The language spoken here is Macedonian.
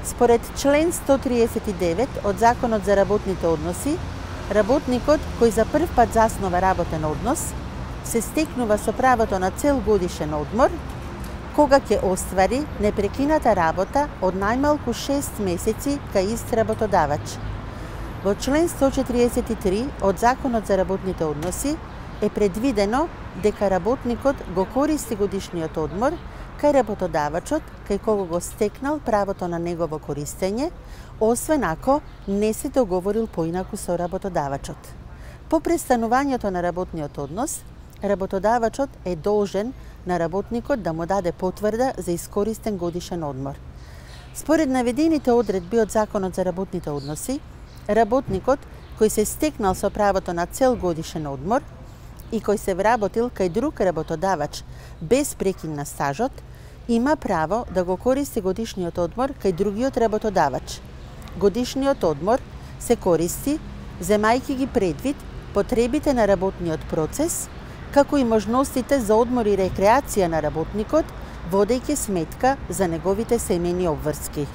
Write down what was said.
Според член 139 од Законот за работните односи, работникот кој за прв пат заснова работен однос се стекнува со правото на цел годишен одмор, кога ќе оствари непрекината работа од најмалку 6 месеци кај ист работодавач. Во член 143 од Законот за работните односи е предвидено дека работникот го користи годишниот одмор кај работодавачот кај кого го стекнал правото на негово користење, освен ако не се договорил поинаку со работодавачот. По престанувањето на работниот однос, работодавачот е должен на работникот да му даде потврда за искористен годишен одмор. Според наведените одредби од Законот за работните односи, работникот кој се стекнал со правото на цел годишен одмор и кој се вработил кај друг работодавач без прекин на стажот, има право да го користи годишниот одмор кај другиот работодавач. Годишниот одмор се користи земајќи ги предвид потребите на работниот процес, како и можностите за одмор и рекреација на работникот, водејќи сметка за неговите семејни обврски.